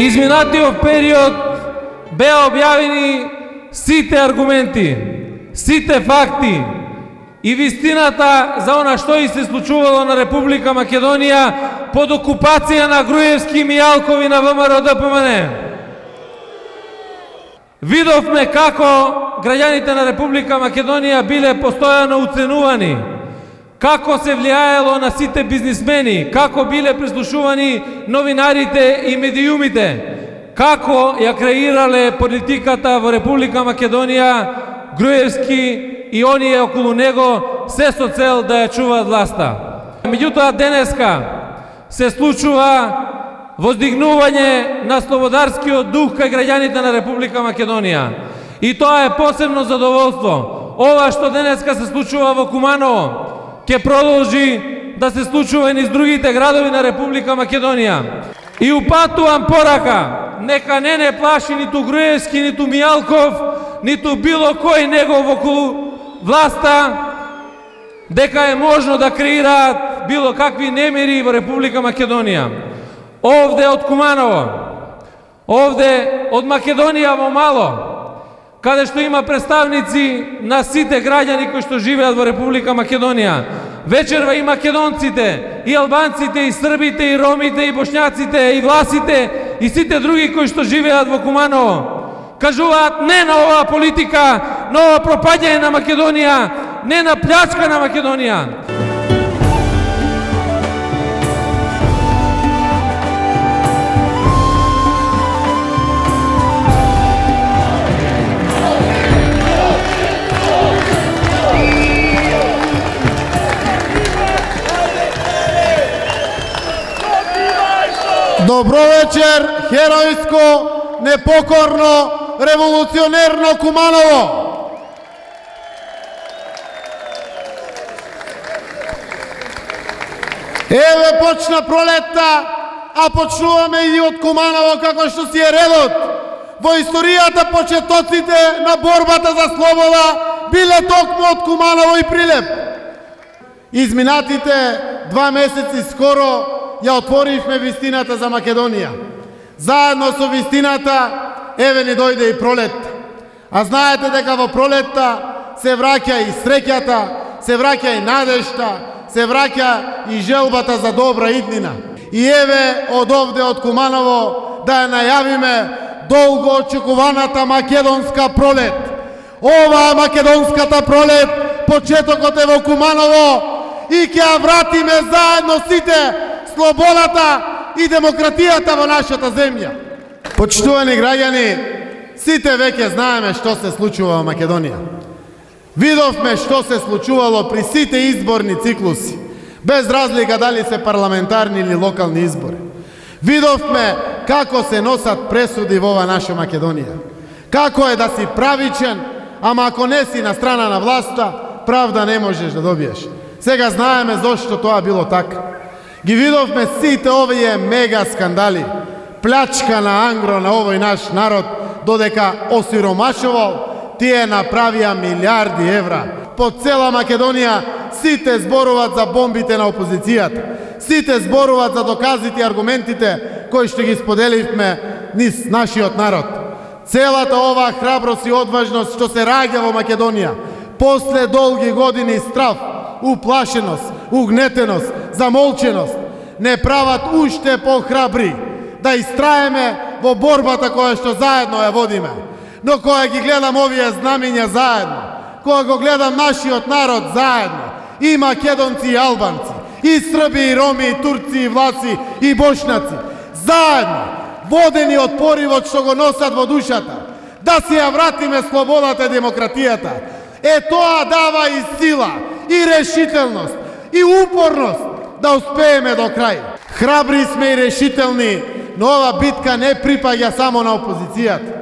изминатиот период беа објавени сите аргументи, сите факти и вистината за она што и се случувало на Република Македонија под окупација на Груевски и Мијалкови на ВМРО-ДПМН. Видовме како граѓаните на Република Македонија биле постојано уценувани, како се влијаело на сите бизнисмени, како биле прислушувани новинарите и медиумите, како ја креирале политиката во Република Македонија Груевски и оние околу него, се со цел да ја чуваат власта. Меѓутоа денеска се случува воздигнување на слободарскиот дух кај граѓаните на Република Македонија. И тоа е посебно задоволство. Ова што денеска се случува во Куманово, ќе продолжи да се случува и низ другите градови на Република Македонија. И упатувам порака, нека не плаши ниту Груевски, ниту Мијалков, ниту било кој негов околу власта, дека е можно да креираат било какви немири во Република Македонија. Овде од Куманово, овде од Македонија во мало, каде што има представници на сите граѓани кои што живеат во Република Македонија. Вечерва и македонците, и албанците, и србите, и ромите, и бошњаците, и власите, и сите други кои што живеат во Куманово. Кажуваат не на оваа политика, на ова пропаѓање на Македонија, не на плячка на Македонија. Добро вечер, херојско, непокорно, револуционерно Куманово. Еве почна пролетта, а почнуваме и од Куманово како што си е редот. Во историјата почетоците на борбата за слобода биле токму од Куманово и Прилеп. Изминатите 2 месеци скоро ја отворивме вистината за Македонија. Заедно со вистината, еве ни дојде и пролет. А знаете дека во пролетта се враќа и среќата, се враќа и надежта, се враќа и желбата за добра иднина. И еве од овде од Куманово да ја најавиме долго очекуваната македонска пролет. Ова македонската пролет, почетокот е во Куманово и ќе ја вратиме заедно сите слободата и демократијата во нашата земја. Почитувани граѓани, сите веќе знаеме што се случува во Македонија. Видовме што се случувало при сите изборни циклуси, без разлика дали се парламентарни или локални избори. Видовме како се носат пресуди во ова наша Македонија. Како е да си правичен, ама ако не си на страна на власта, правда не можеш да добиеш. Сега знаеме зошто тоа било така. Ги видовме сите овие мега скандали, плячка на ангро на овој наш народ, додека осиромашувал, тие направија милиарди евра. По цела Македонија сите зборуваат за бомбите на опозицијата. Сите зборуваат за доказите и аргументите кои што ги споделивме низ нашиот народ. Целата оваа храброст и одважност што се раѓа во Македонија, после долги години страв, уплашеност, угнетеност, замолченост, не прават уште похрабри да истраеме во борбата која што заедно ја водиме. Но кога ги гледам овие знамиња заедно, кога го гледам нашиот народ заедно, и македонци и албанци, и срби и роми, и турци, и влаци, и бошњаци, заедно, водени од поривот што го носат во душата, да си ја вратиме слободата и демократијата, тоа дава и сила, и решителност, и упорност да успееме до крај. Храбри сме и решителни, но ова битка не припаѓа само на опозицијата.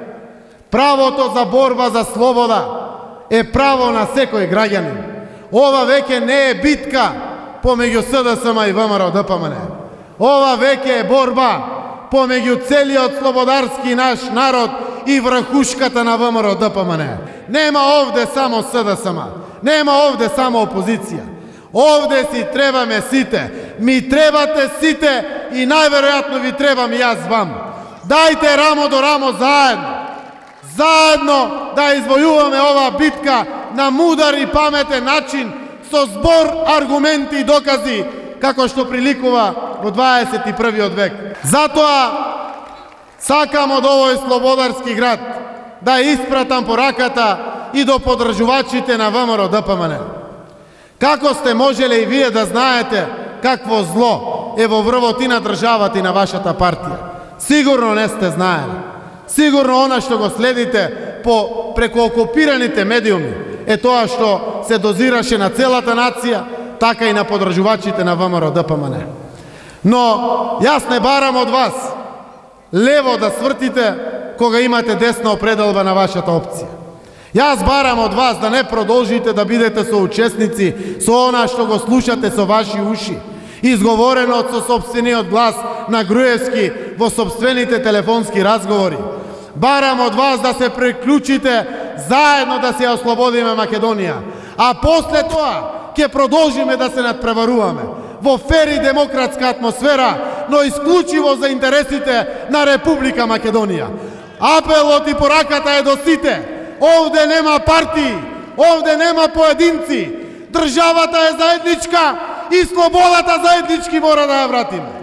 Правото за борба за слобода е право на секој граѓанин. Ова веќе не е битка помеѓу СДСМ и ВМРО-ДПМН. Ова веќе е борба помеѓу целиот слободарски наш народ и врхушката на ВМРО-ДПМН. Нема овде само СДСМ, нема овде само опозиција. Овде си требаме сите, ми требате сите и најверојатно ви требам и јас вам. Дајте рамо до рамо заедно. Заедно да извојуваме оваа битка на мудар и паметен начин со збор, аргументи и докази како што приликува во 21. век. Затоа сакам од овој слободарски град да испратам пораката и до подржувачите на ВМРО ДПМН. Како сте можеле и вие да знаете какво зло е во врвотина државата и на вашата партија? Сигурно не сте знаели. Сигурно она што го следите преку окупираните медиуми е тоа што се дозираше на целата нација, така и на подржувачите на ВМРО ДПМН. Но јас не барам од вас лево да свртите кога имате десна определба на вашата опција. Јас барам од вас да не продолжите да бидете соучесници со она што го слушате со ваши уши, изговорено со сопствениот глас на Груевски во сопствените телефонски разговори. Барам од вас да се приклучите заедно да се ослободиме Македонија, а после тоа ќе продолжиме да се надпреваруваме во фер и демократска атмосфера, но исклучиво за интересите на Република Македонија. Апелот и пораката е до сите. Овде нема партии, овде нема поединци. Државата е заедничка и слободата заеднички мора да ја вратиме.